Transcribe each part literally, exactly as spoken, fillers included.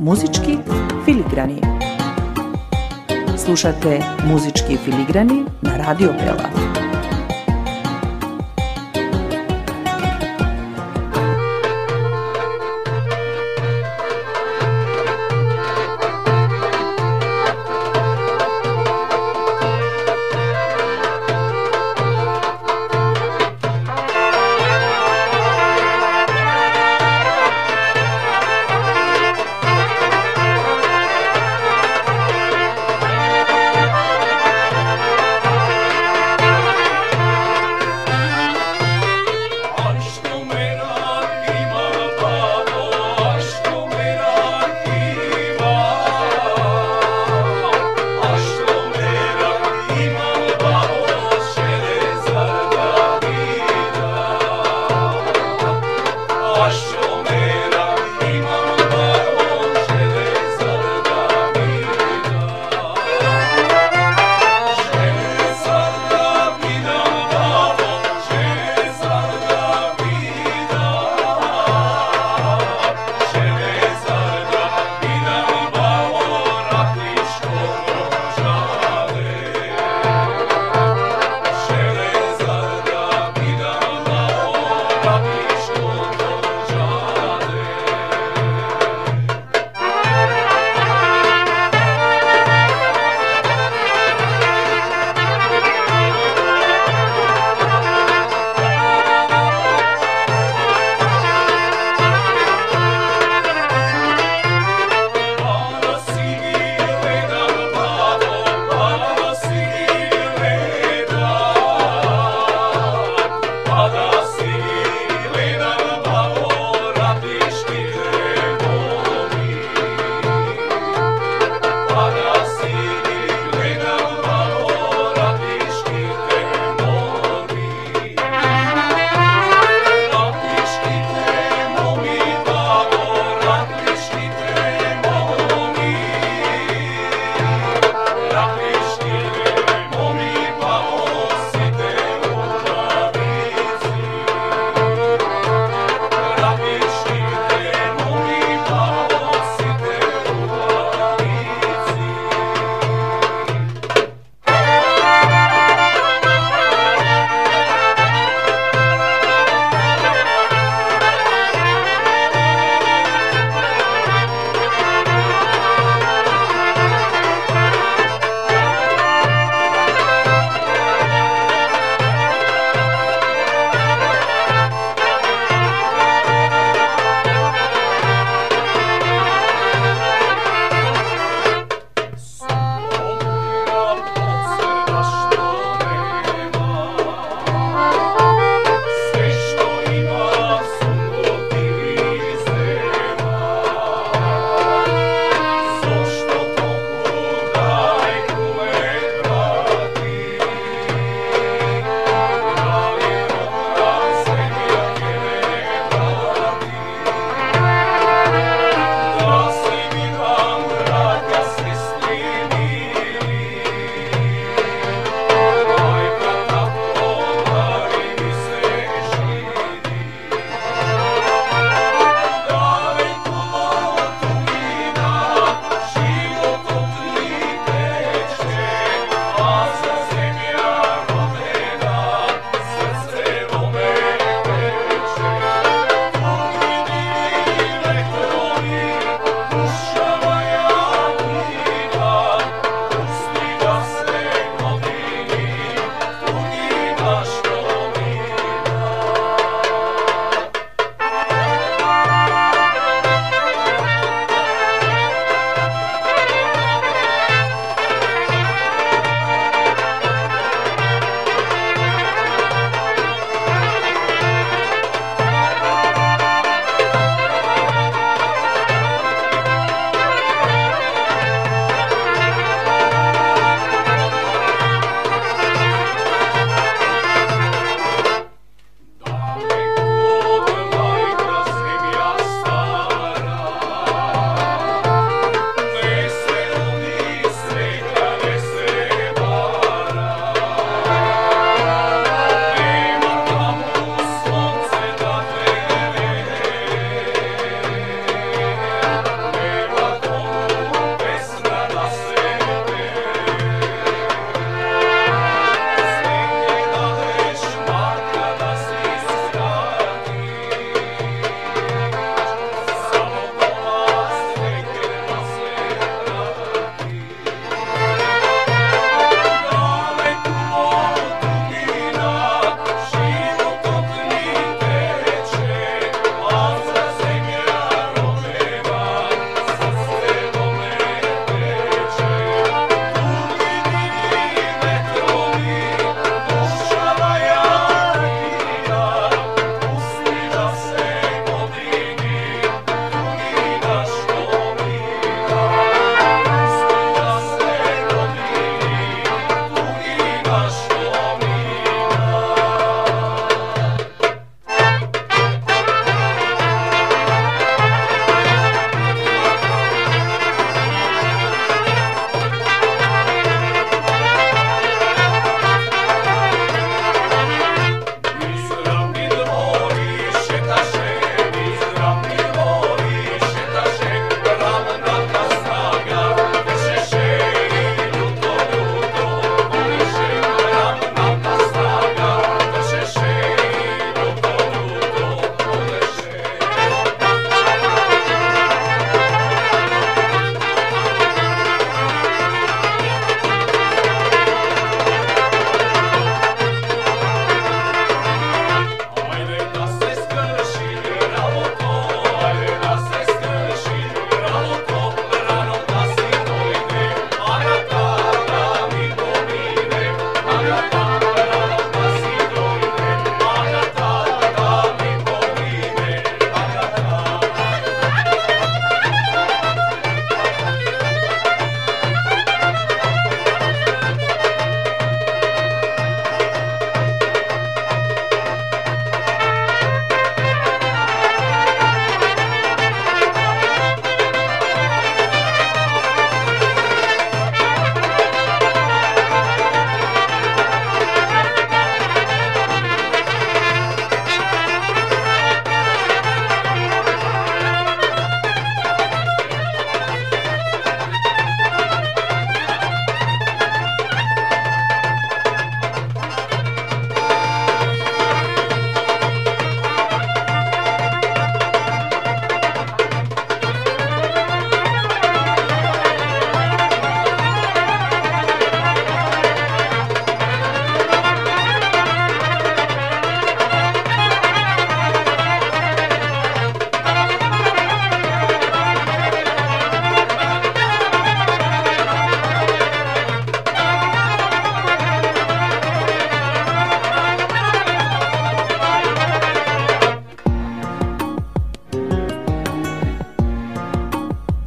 Музички филиграни. Слушате Музички филиграни на Радио Бела. Železar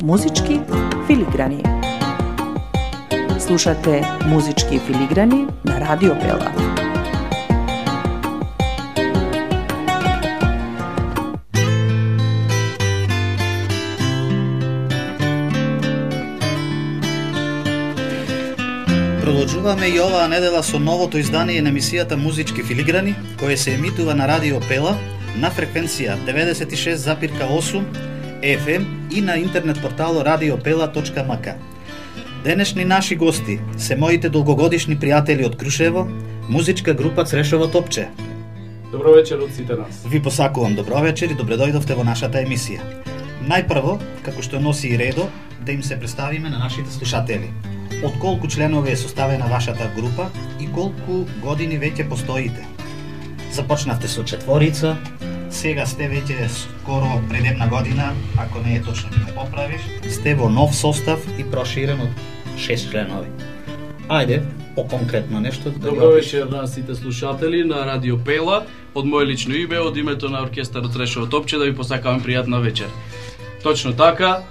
Музички филиграни. Слушате Музички филиграни на Радио Бела. Продолжуваме и оваа недела со новото издание на емисијата Музички филиграни, кое се емитува на Радио Пела на фреквенција деветдесет и шест запирка осум еф ем и на интернет портало радио пела точка ем ка. Денешни наши гости се моите долгогодишни пријатели од Крушево, музичка група Црешово топче. Добро вечер од сите нас. Ви посакувам добро вечер и добре дојдовте во нашата емисија. Најпрво, како што носи и редо, да им се представиме на нашите слушатели. Од колку членови е составена вашата група и колку години веќе постоите? Започнавте со четворица, сега сте веќе скоро пред една година, ако не е точно да ме поправиш, сте во нов состав и проширен од шест членови. Ајде, по-конкретно нешто да Добро вечер на сите слушатели на Радио Пела. Од моје лично име, од името на оркестарот Црешово топче, да ви посакавам пријатна вечер. Точно така,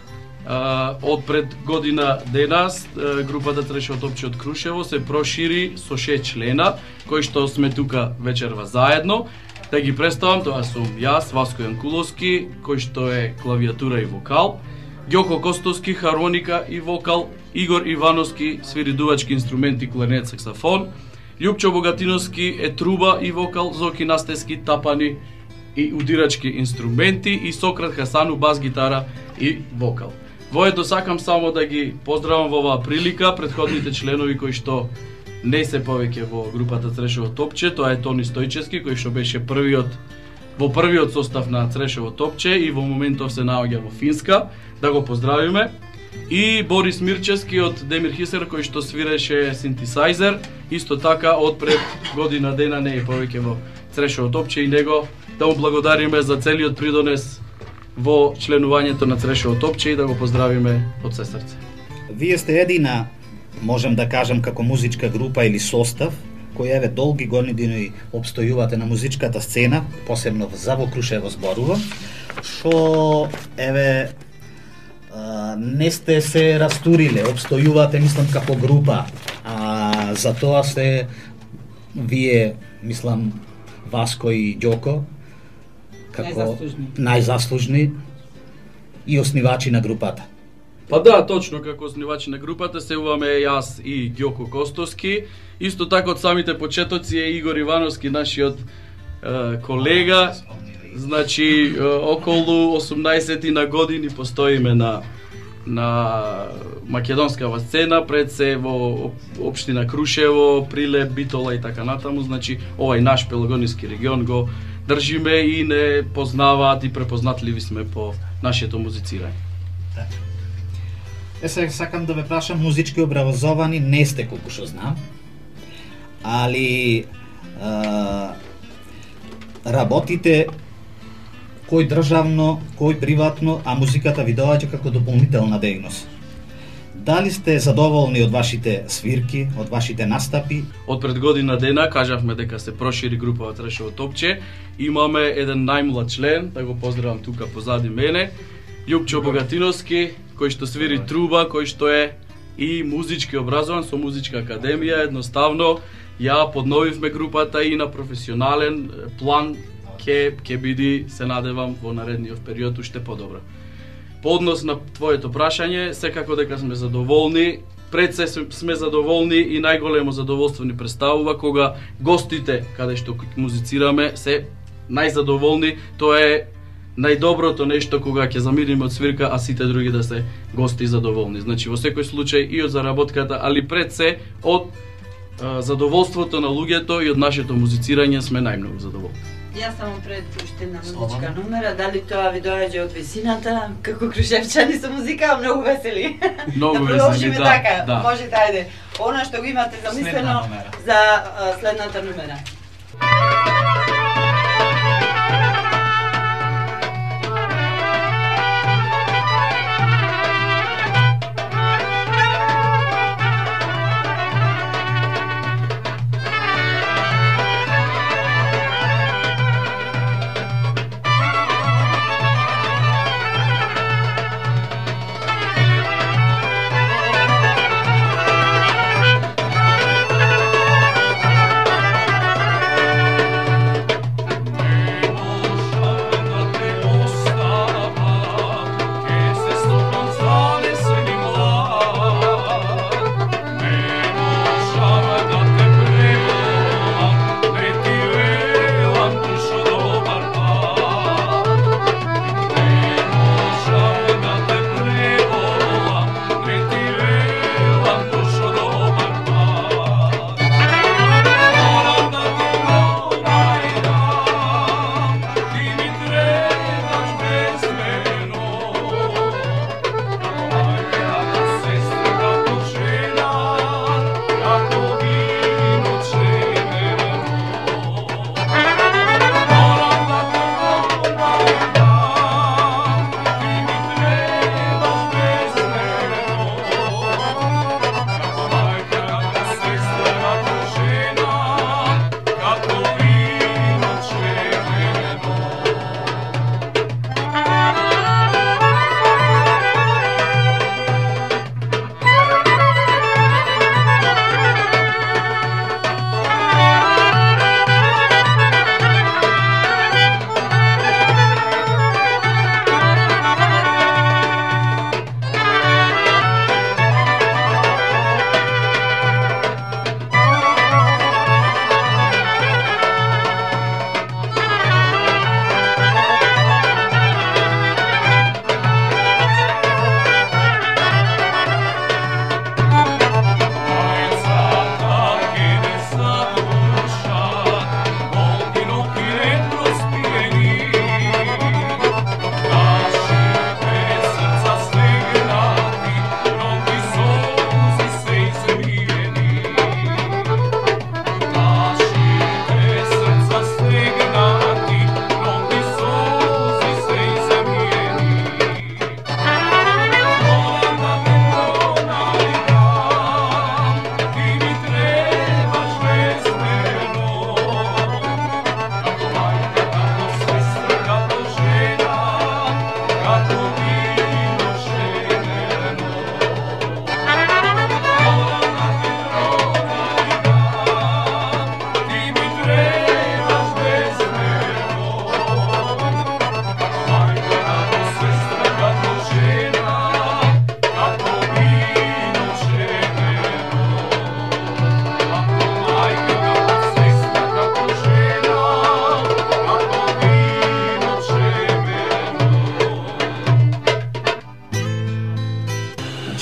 од пред година денас групата Црешово топче од Крушево се прошири со шест члена, кои што сме тука вечерва заедно. Да ги представам, тоа сум јас, Васко Јанкуловски, кој што е клавиатура и вокал, Ѓоко Костовски, хармоника и вокал, Игор Ивановски, свири дувачки инструменти, кларнет, саксофон, Љупчо Богатиновски е труба и вокал, Зоки Настески, тапани и удирачки инструменти и Сократ Хасану, бас гитара и вокал. Воето сакам само да ги поздравам во оваа прилика претходните членови кои што не се повеќе во групата Црешово топче, тоа е Тони Стојчевски кој што беше првиот во првиот состав на Црешово топче и во моментов се наоѓа во Финска, да го поздравиме. И Борис Мирчевски од Демир Хисер кој што свиреше синтесајзер, исто така од пред година дена не е повеќе во Црешово топче и него да му благодариме за целиот придонес во членувањето на Црешово топче и да го поздравиме од се срце. Вие сте едина, можем да кажем, како музичка група или состав, кој еве долги години обстојувате на музичката сцена, посебно за во Крушево зборувам, што еве а, не сте се растуриле, обстојувате, мислам, како група, а за тоа се вие, мислам, Васко и Ѓоко, како најзаслужни. најзаслужни и основачи на групата. Па да, точно како основачи на групата се уваме јас и Ѓоко Костовски. Исто така од самите почетоци е Игор Ивановски, нашиот е, колега. Значи, е, околу осумнаесет на години постоиме на на македонскава сцена, пред се во општина Крушево, Прилеп, Битола и така натаму. Значи, овај наш пелагониски регион го држиме и не познаваат и препознатливи сме по нашето музицирање. Да. Е, сега сакам да ве прашам, музички образовани не сте, колку што знам, али а, работите кој државно, кој приватно, а музиката ви доаѓа како дополнителна дејност. Дали сте задоволни од вашите свирки, од вашите настапи? Од пред година дена кажавме дека се прошири група Црешово топче. Имаме еден најмлад член, да го поздравам тука позади мене, Љупчо Богатиновски, кој што свири труба, кој што е и музички образован со музичка академија. Едноставно ја подновивме групата и на професионален план ќе ќе биде, се надевам, во наредниот период уште подобро. По однос на твоето прашање, секако дека сме задоволни. Пред се сме задоволни и најголемо задоволство ни представува кога гостите каде што музицираме се најзадоволни. Тоа е најдоброто нешто кога ќе замириме од свирка, а сите други да се гости и задоволни. Значи во секој случај и од заработката, али пред се од а, задоволството на луѓето и од нашето музицирање сме најмногу задоволни. Јас само пред уште една музичка номера, дали тоа ви доаѓа од висината, како крушевчани со музика, многу весели. Многу да весели, продолжиме да, така, да. можете, ајде. Она што го имате замислено за а, следната номера.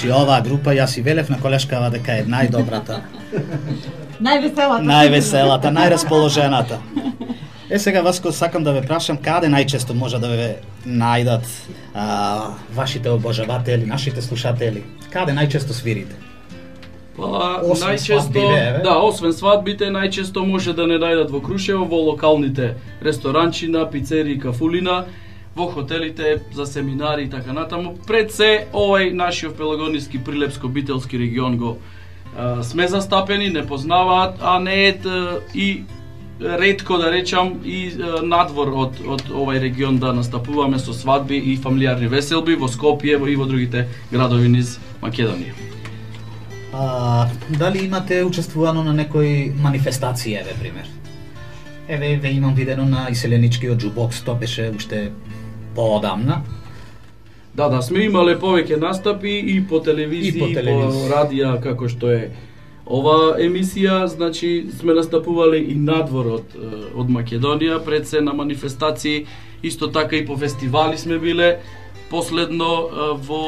Значи оваа група јас и велев на колешкава дека е најдобрата, Највеселата. највеселата, најрасположената. Е сега вас ко сакам да ве прашам каде најчесто може да ве најдат а, вашите обожаватели, нашите слушатели? Каде најчесто свирите? Па, Освен најчесто, свадбите, еве. да, освен свадбите, најчесто може да не најдат во Крушево, во локалните ресторанчина, пицерии, кафулина, во хотелите за семинари и така натаму. Пред се, овај нашиот пелагониски прилепско-бителски регион го а, сме застапени, не познаваат, а не е и ретко да речам и а, надвор од од овај регион да настапуваме со свадби и фамилиарни веселби во Скопје и во другите градови низ Македонија. А, дали имате учествувано на некои манифестации, еве пример? Еве, еве имам видено на иселеничкиот джубокс, тоа беше уште поодамна. Да, да, сме имале повеќе настапи и по телевизија, И по и по, телевизија. радија, како што е ова емисија, значи сме настапувале и надвор од, е, од Македонија, пред се на манифестации, исто така и по фестивали сме биле. Последно е, во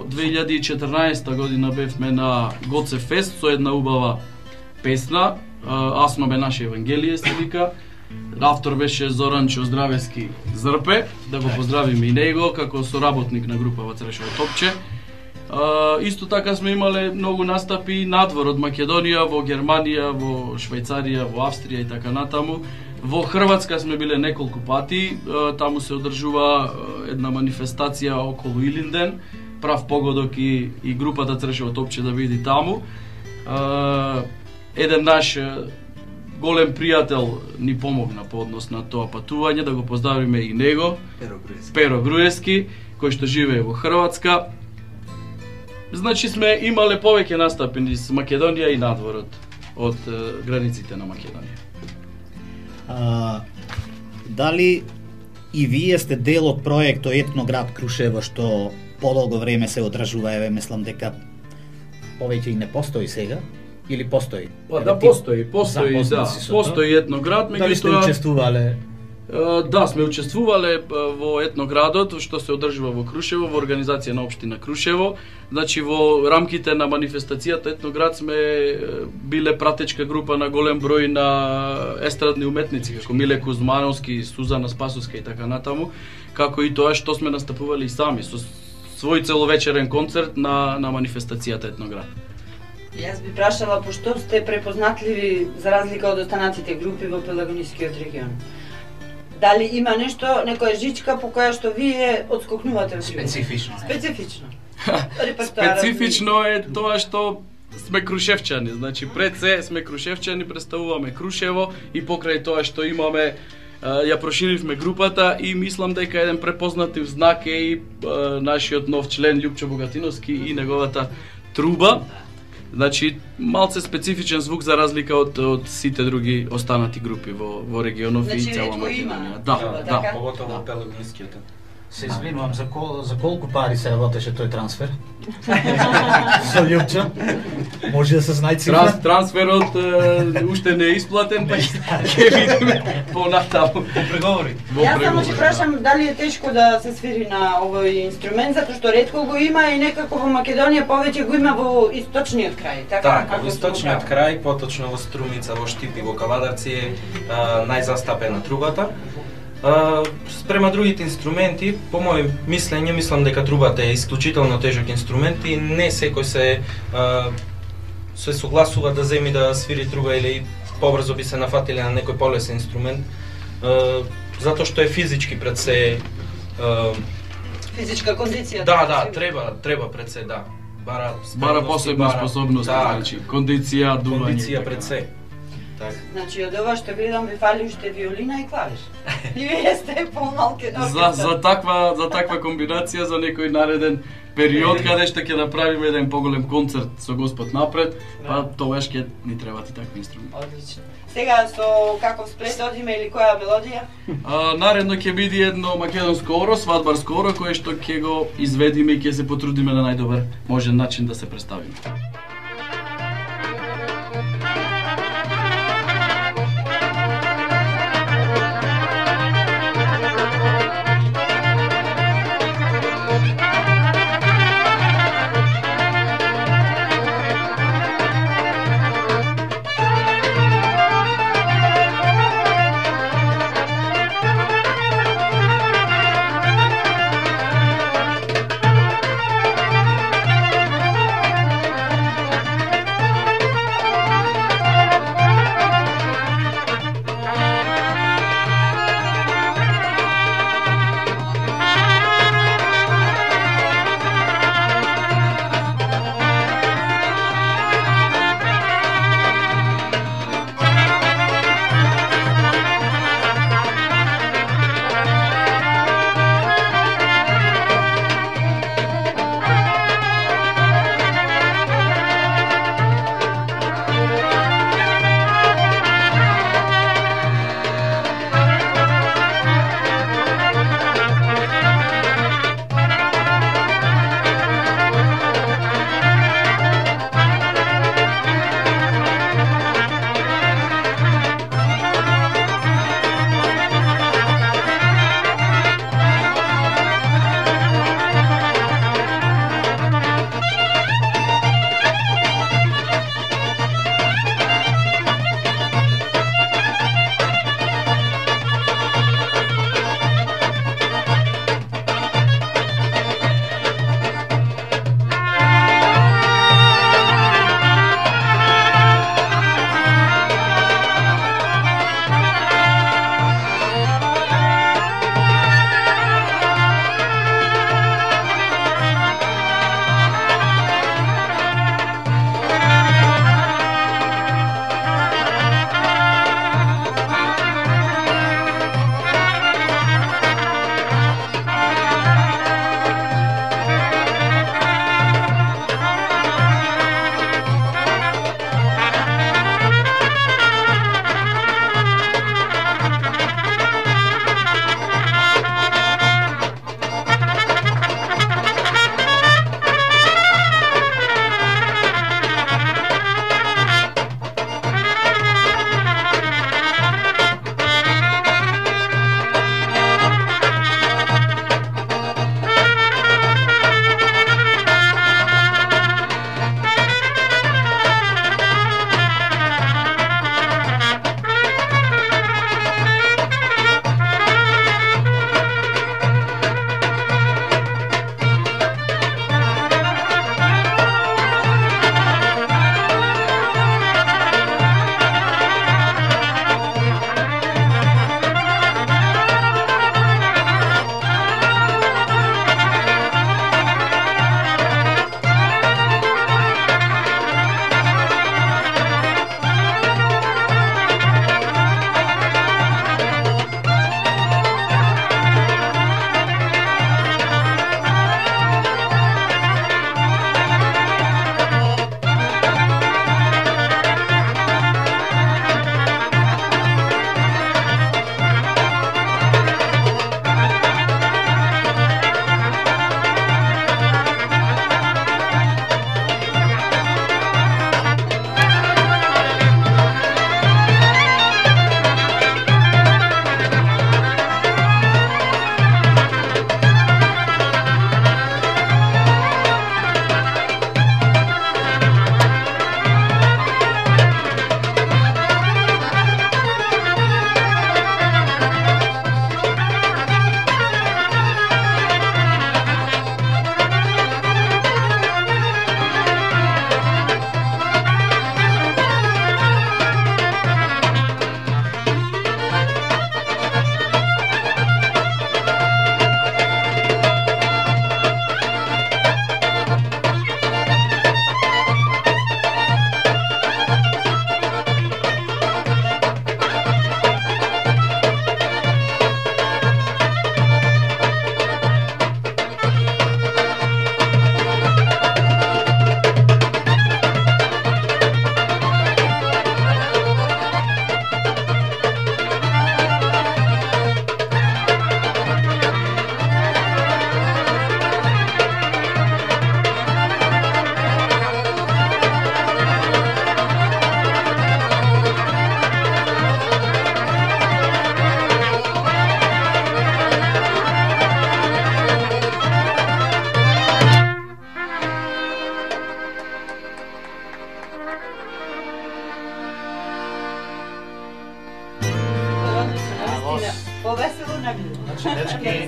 две илјади и четрнаесета година бевме на Гоце Фест со една убава песна, е, Асно бе наше Евангелие се вика. Автор беше Зоран Оздравески Зрпе, да го поздравиме и него како соработник на група во Црешово топче. А, исто така сме имале многу настапи надвор од Македонија, во Германија, во Швајцарија, во Австрија и така натаму. Во Хрватска сме биле неколку пати, а, таму се одржува а, една манифестација околу Илинден, прав погодок и, и групата Црешово топче да биде таму. А, еден наш голем пријател ни помогна по однос на тоа патување, да го поздравиме и него, Перо Груевски. Перо Груевски, кој што живее во Хрватска. Значи сме имале повеќе настапи низ Македонија и надворот од е, границите на Македонија. А, дали и вие сте дел од проектот Етноград Крушево што подолго време се одржува, еве мислам дека повеќе и не постои сега или постои? Па Еве, да, ти постои, постои, запознат да, си со тоа? постои Етноград, Дали сте меѓутоа учествувале? Е, Да, сме учествувале е, во Етноградот, што се одржува во Крушево, во организација на општина Крушево. Значи, во рамките на манифестацијата Етноград сме е, биле пратечка група на голем број на естрадни уметници, како Миле Кузмановски, Сузана Спасовска и така натаму, како и тоа што сме настапували и сами, со свој целовечерен концерт на, на манифестацијата Етноград. Јас би прашала пошто сте препознатливи за разлика од останатите групи во Пелагонискиот регион. Дали има нешто, некоја жичка по која што вие одскокнувате од другите? Специфично. Специфично. Репертоарот Специфично е тоа што сме крушевчани, значи пред се сме крушевчани, представуваме Крушево и покрај тоа што имаме а, ја проширивме групата и мислам дека еден препознатив знак е и а, нашиот нов член Љупчо Богатиновски и неговата труба. Значи малце специфичен звук за разлика од од сите други останати групи во во регионов Значи, и цела ретко има. Македонија. Да, Да, да. така? Поготово во Пелагонискиот. Се извинувам, за, кол, за колку пари се работеше тој трансфер? Со Љупчо? Може да се знае цифра? Транс, трансферот е, уште не е исплатен, па ќе видиме понатаму. Преговори. Во Јас само преговори, ќе прашам дали е тешко да се свири на овој инструмент, затоа што ретко го има и некако во Македонија повеќе го има во источниот крај, така? Така, како во сте источниот го крај, поточно во Струмица, во Штип и во Кавадарци е а, најзастапена трубата. А, спрема другите инструменти, по моје мислење, мислам дека трубата е исклучително тежок инструмент и не секој се а, се согласува да земи да свири труба или побрзо би се нафатиле на некој полесен инструмент, а, затоа што е физички пред се. А, Физичка кондиција. да, да, треба, треба пред се, да. Бара, Бара спремност и посебна бара- способност, да, значи кондиција, дување. кондиција и пред така. се. Така. Значи, од ова што гледам ви фали уште виолина и клавиш. И вие сте помалки на За за таква за таква комбинација за некој нареден период каде што ќе направиме еден поголем концерт со Господ напред, па тогаш ќе ни требаат и такви инструменти. Одлично. Сега со каков сплет одиме или која мелодија? А, наредно ќе биде едно македонско оро, свадбарско оро, кое што ќе го изведиме и ќе се потрудиме на најдобар можен начин да се представиме. Thank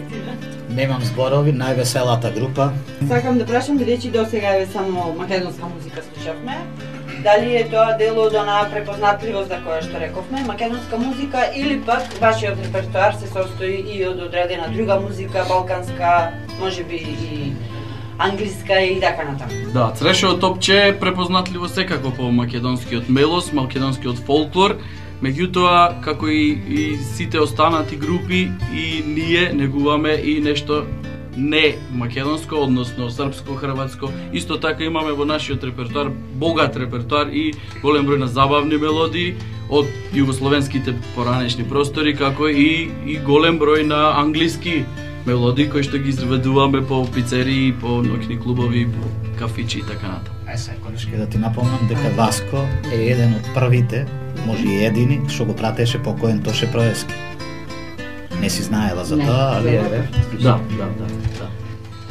навистина. Немам зборови, највеселата група. Сакам да прашам, бидејќи до сега е само македонска музика слушавме, дали е тоа дел од онаа препознатливост за која што рековме, македонска музика, или пак вашиот репертоар се состои и од одредена друга музика, балканска, можеби и англиска и така натаму. Да, Црешово топче е препознатливо секако по македонскиот мелос, македонскиот фолклор, меѓутоа, како и, и сите останати групи, и ние негуваме и нешто не македонско, односно српско, хрватско. Исто така имаме во нашиот репертоар богат репертоар и голем број на забавни мелодии од југословенските поранешни простори, како и, и голем број на англиски мелодии кои што ги изведуваме по пицерии, по ноќни клубови, по кафичи и така натаму. Ај се, конечки да ти напомнам дека Васко е еден од првите, може и едини, што го пратеше покоен Тоше Проески. Не си знаела за тоа, али е... Да, да, да, да.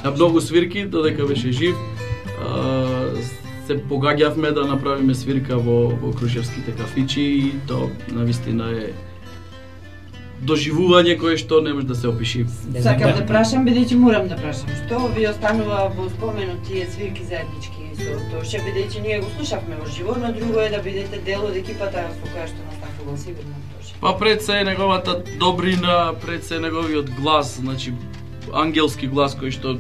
На многу свирки, додека беше жив, се погаѓавме да направиме свирка во, во Крушевските кафичи и тоа навистина е доживување кое што не може да се опиши. Сакам да прашам, бидејќи морам да прашам, што ви останува во споменот тие свирки заеднички со Тоше, бидејќи ние го слушавме во живо, но друго е да бидете дел од екипата со која што настапувал сигурно Тоше. Па пред се неговата добрина, пред се неговиот глас, значи ангелски глас кој што е,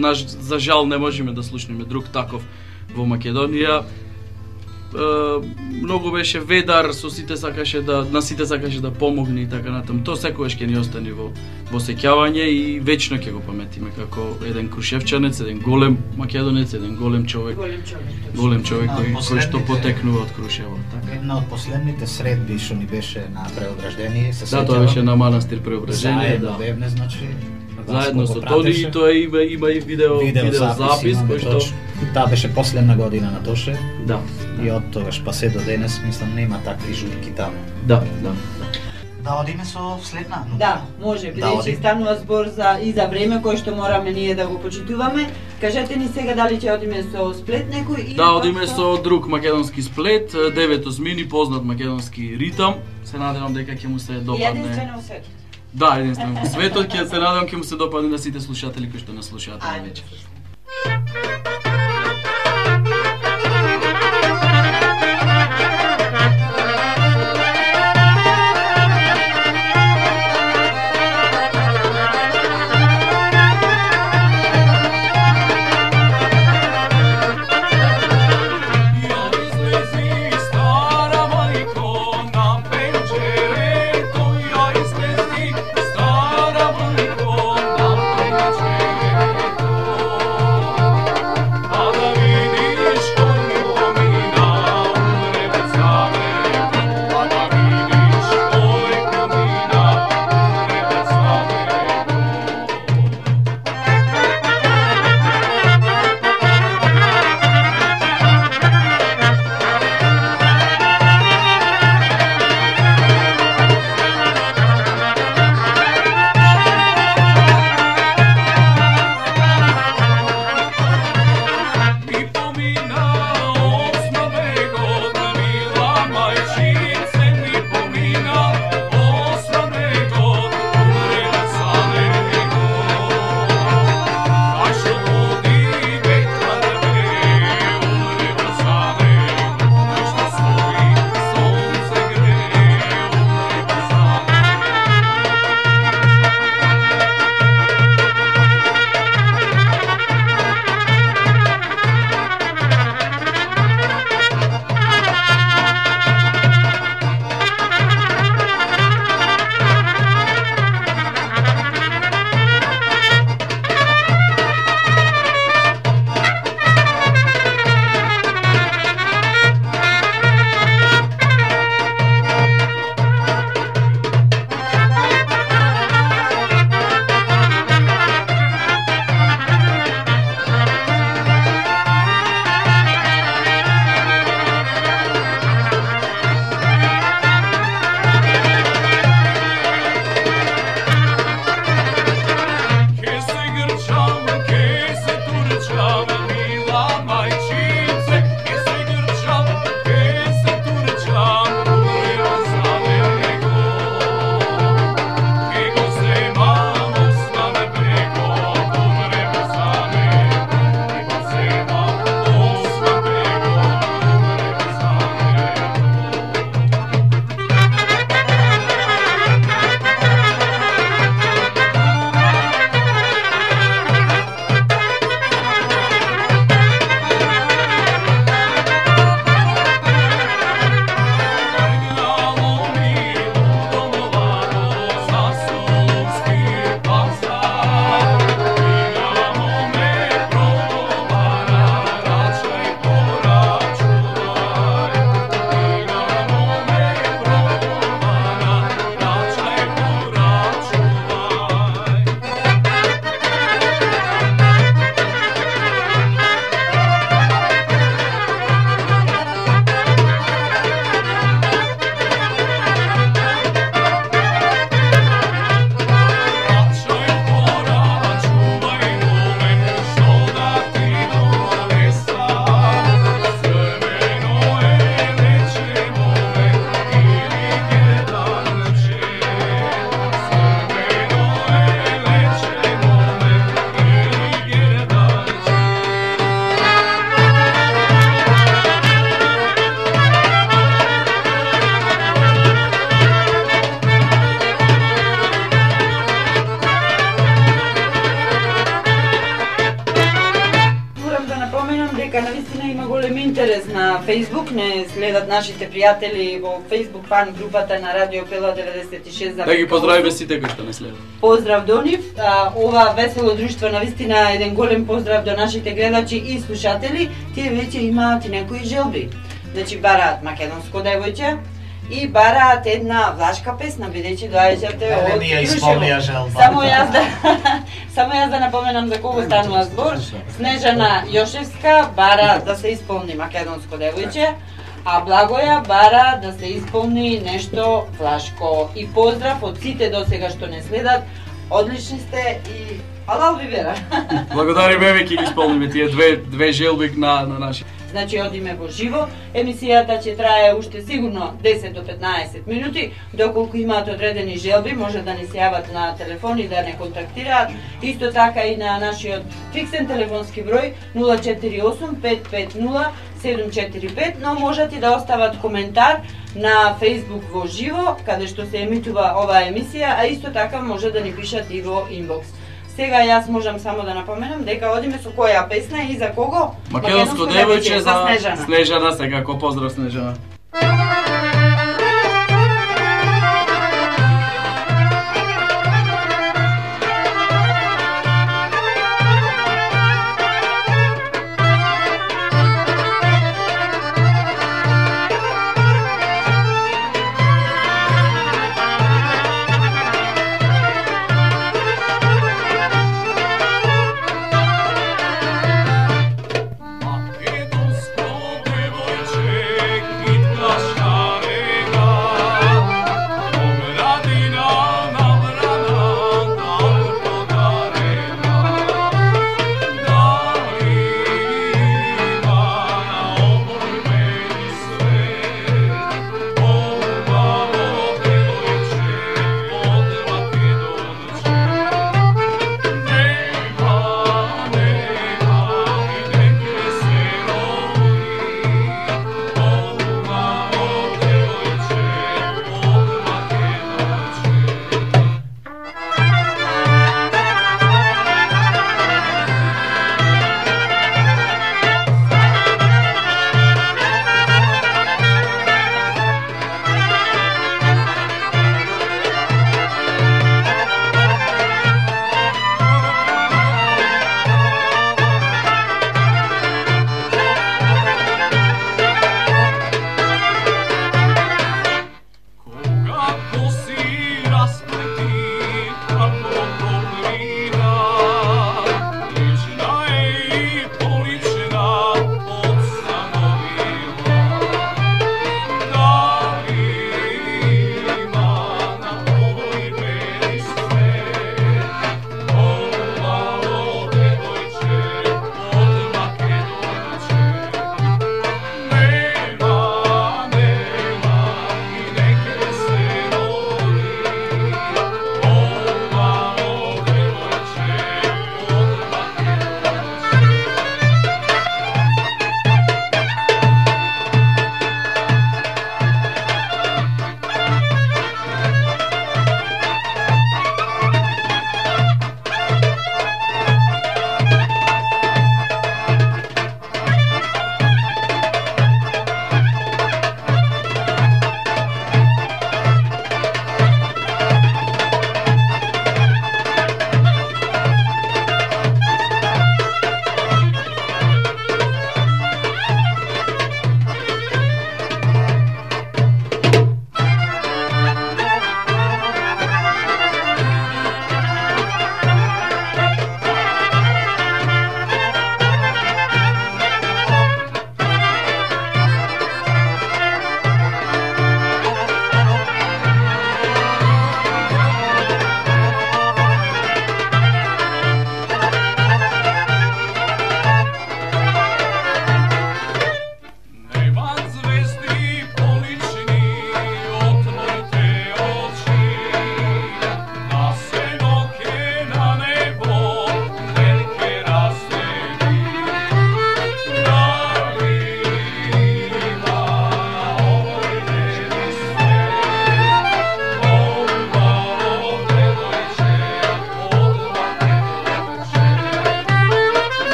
наш, за жал не можеме да слушнеме друг таков во Македонија. Uh, многу беше ведар, со сите сакаше да на сите сакаше да помогне и така натаму. Тоа секогаш ќе ни остане во во сеќавање и вечно ќе го паметиме како еден крушевчанец, еден голем македонец, еден голем човек. Голем човек. Голем човек кој, А, кој што потекнува од Крушево. Така, една од последните средби што ни беше на Преображдение, се Да, тоа беше на манастир Преображение, заедно да. бевне, значи Заедно Васко со го Тони пратеше. и тоа има има и видео Видео видео запис, запис имаме кој што точно. Таа беше последна година на Тоше да. и од тогаш па се до денес мислам нема такви журки таму. Да, да. Да одиме со следна. Да, може, Да, бидејќи оди. станува збор за и за време кој што мораме ние да го почитуваме. Кажете ни сега дали ќе одиме со сплет некој или Да, пак одиме со друг македонски сплет, девет осмини, познат македонски ритам. Се надевам дека ќе му се и допадне. единствено во светот. Да, единствено во светот, ќе се надевам ќе му се допадне на сите слушатели кои што нас слушаат на Ајде. вечер. Stara majko na penčetu интерес на Facebook, не следат нашите пријатели во Facebook фан групата на Радио Пела деветдесет и шест зарез осум. Да ги поздравиме сите кои што не следат. Поздрав до нив. А, ова весело друштво навистина еден голем поздрав до нашите гледачи и слушатели. Тие веќе имаат и некои желби. Значи бараат македонско девојче и бараат една влашка песна, бидејќи доаѓате од Не, ние исполнија желба. Само јас да само јас да напоменам за кого станува збор. Снежана Јошевска бара да се исполни македонско девојче, а Благоја бара да се исполни нешто влашко. И поздрав од сите досега што не следат. Одлични сте и алал ви вера. Благодариме, веќе ги исполниме тие две две желби на на наши. Значи одиме во живо. Емисијата ќе трае уште сигурно десет до петнаесет минути. Доколку имаат одредени желби, може да ни се јават на телефон и да не контактираат. Исто така и на нашиот фиксен телефонски број нула четири осум пет пет нула седум четири пет, но можат и да остават коментар на Facebook во живо, каде што се емитува оваа емисија, а исто така може да ни пишат и во инбокс. Сега јас можам само да напоменам дека одиме со која песна и за кого? Македонско девојче за Снежана. Снежана, секако поздрав Снежана. Македонско девојче, кит глаш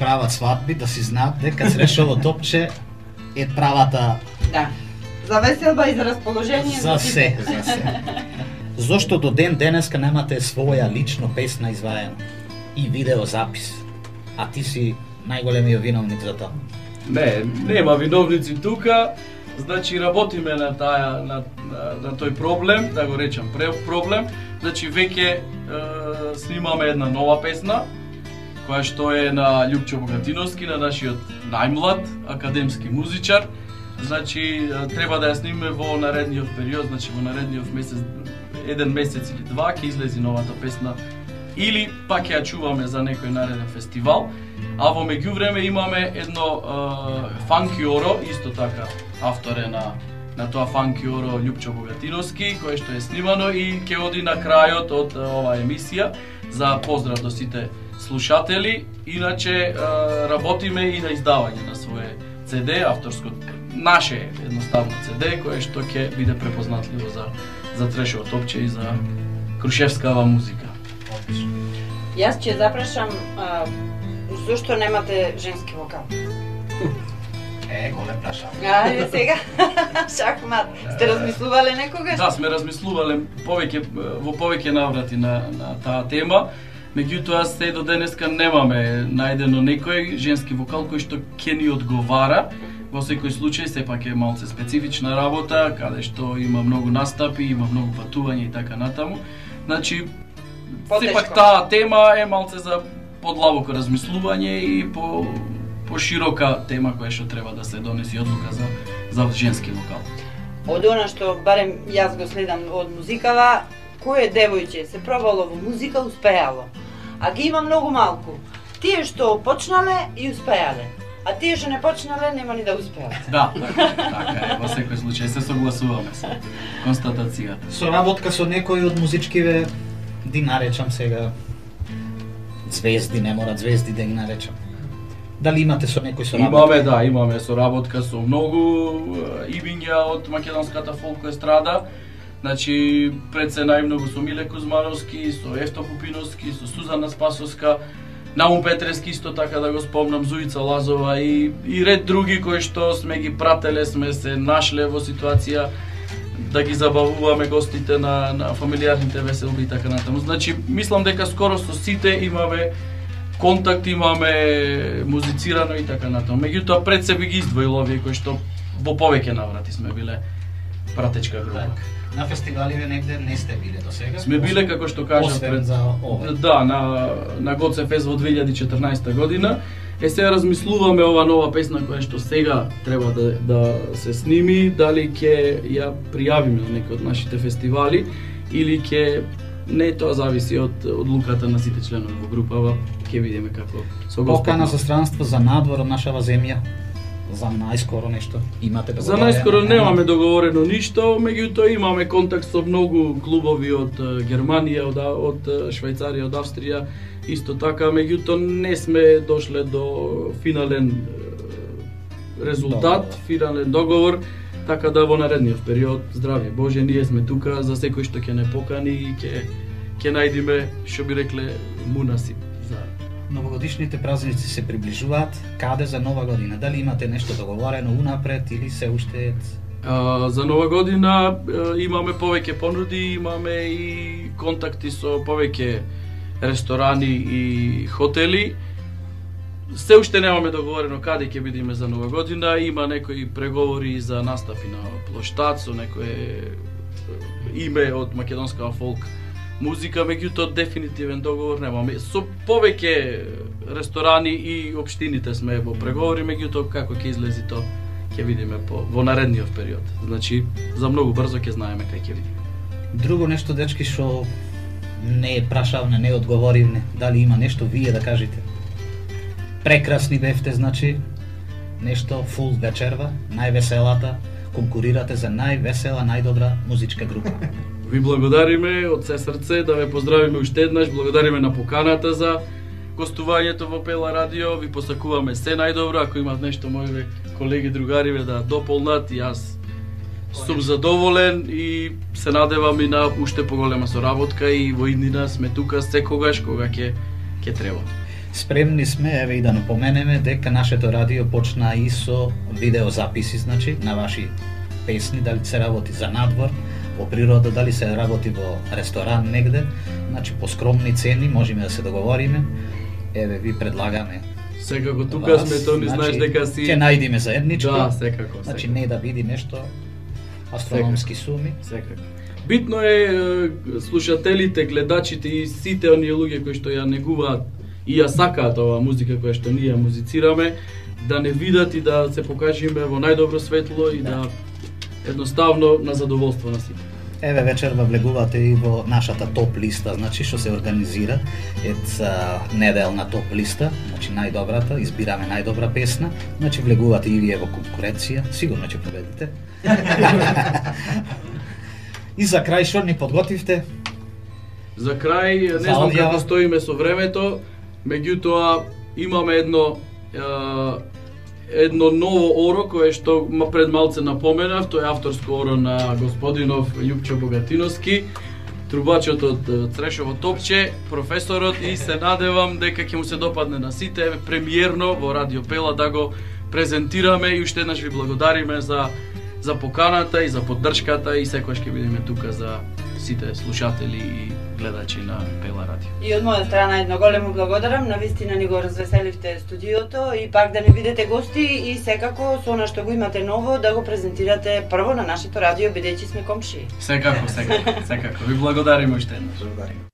прават свадби, да си знаат дека Црешово топче е правата Да. За веселба и за расположение за се, за се. Зошто до ден денеска немате своја лично песна изваена и видеозапис? А ти си најголемиот виновник за тоа. Не, нема виновници тука. Значи работиме на таа на, на, на тој проблем, да го речам проблем. Значи веќе е, снимаме една нова песна која што е на Љупчо Богатиновски, на нашиот најмлад академски музичар. Значи треба да ја снимеме во наредниот период, значи во наредниот месец, еден месец или два ќе излези новата песна или пак ја чуваме за некој нареден фестивал. А во меѓувреме имаме едно е, фанкиоро, исто така автор е на на тоа фанкиоро Љупчо Богатиновски, кое што е снимано и ќе оди на крајот од оваа емисија за поздрав до сите слушатели. Иначе е, работиме и на издавање на свое Це Де, авторско наше едноставно Це Де, кое што ќе биде препознатливо за за Трешово топче и за крушевскава музика. Јас ќе запрашам а, зошто немате женски вокал? Е, голем прашање. Ајде сега, шахмат. Сте размислувале некогаш? Да, сме размислувале повеќе во повеќе наврати на на таа тема. Меѓутоа се до денеска немаме најдено некој женски вокал кој што ќе ни одговара. Во секој случај сепак е малце специфична работа, каде што има многу настапи, има многу патување и така натаму. Значи сепак таа тема е малце за подлабоко размислување и по по широка тема која што треба да се донеси одлука за за женски вокал. Од она што барем јас го следам од музикава, кое девојче се пробало во музика успеало. А ги има многу малку. Тие што почнале и успеале, а тие што не почнале нема ни да успеат. Да, така, така е, во секој случај се согласуваме со констатацијата. Соработка со некој од музичкиве, ди наречам сега звезди, не мора звезди да ги наречам. Дали имате со некој соработка? Имаме, да, имаме соработка со многу имиња од македонската фолк естрада. Значи, пред се најмногу со Миле Кузмановски, со Евто Пупиновски, со Сузана Спасовска, Наум Петрески исто така да го спомнам, Зуица Лазова и, и ред други кои што сме ги прателе, сме се нашле во ситуација да ги забавуваме гостите на, на фамилиарните веселби и така натаму. Значи, мислам дека скоро со сите имаме контакт, имаме музицирано и така натаму. Меѓутоа пред себе ги издвоил овие кои што во повеќе наврати сме биле пратечка група. Так. На фестиваливе негде не сте биле до сега? Сме биле, како што кажа, пред за ова. Да, на на Гоцефест во две илјади и четрнаесета година. Е, сега размислуваме ова нова песна која што сега треба да да се сними, дали ќе ја пријавиме на некој од нашите фестивали или ќе не, тоа зависи од одлуката на сите членови во групава, ќе видиме како со Покана за странство за надвор од нашава земја. За најскоро нешто имате да За најскоро немаме договорено ништо, меѓутоа имаме контакт со многу клубови од Германија, од, од Швајцарија, од Австрија, исто така, меѓутоа не сме дошле до финален резултат, договор. финален договор, така да во наредниот период, здравје Боже, ние сме тука за секој што ќе не покани и ќе ќе најдиме, што би рекле, мунасип за Новогодишните празници се приближуваат. Каде за нова година? Дали имате нешто договорено унапред или се уште? А, за нова година а, имаме повеќе понуди, имаме и контакти со повеќе ресторани и хотели. Се уште немаме договорено каде ќе бидеме за нова година. Има некои преговори за настапи на плоштад со некое име од македонска фолк музика, меѓутоа дефинитивен договор немаме. Со повеќе ресторани и општините сме во преговори, меѓутоа како ќе излези тоа ќе видиме по во наредниот период. Значи за многу брзо ќе знаеме кај ќе видиме. Друго нешто, дечки, што не е прашавне, не одговоривне, дали има нешто вие да кажете? Прекрасни бевте, значи, нешто фул вечерва, највеселата, конкурирате за највесела, најдобра музичка група. Ви благодариме од се срце, да ве поздравиме уште еднаш, благодариме на поканата за гостувањето во Пела радио, ви посакуваме се најдобро, ако имат нешто мои колеги, другари да дополнат, и јас сум задоволен и се надевам и на уште поголема соработка и во иднина сме тука секогаш кога ќе ќе треба. Спремни сме, еве и да напоменеме дека нашето радио почна и со видеозаписи, значи, на ваши песни, дали се работи за надвор, во природа, дали се работи во ресторан негде, значи по скромни цени можеме да се договориме. Еве ви предлагаме. Секако тука сме, то не знаеш дека си ќе најдиме заедничко. Да, секако. Значи секако. не да види нешто астрономски суми. Секако. Битно е слушателите, гледачите и сите оние луѓе кои што ја негуваат и ја сакаат оваа музика која што ние ја музицираме, да не видат и да се покажеме во најдобро светло и да, да едноставно на задоволство на сите. Еве вечерва влегувате и во нашата топ листа, значи што се организира ета неделна топ листа, значи најдобрата, избираме најдобра песна, значи влегувате и вие во конкуренција, сигурно ќе победите. И за крај што ни подготвивте? За крај, не знам како стоиме со времето, меѓутоа имаме едно е, едно ново оро кое што пред малце напоменав, тоа е авторско оро на господинов Љупчо Богатиновски, трубачот од Црешово топче, професорот, и се надевам дека ќе му се допадне на сите, премиерно во Радио Пела да го презентираме и уште еднаш ви благодариме за за поканата и за поддршката и секогаш ќе бидеме тука за сите слушатели и гледачи на Пела Радио. И од моја страна едно големо благодарам, навистина ни го развеселивте студиото и пак да не бидете гости и секако со она што го имате ново да го презентирате прво на нашето радио бидејќи сме комшии. Секако, секако, секако. Ви благодариме уште еднаш. Благодариме.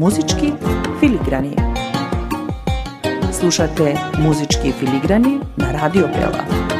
Музички филиграни. Слушате Музички филиграни на Радио Бела.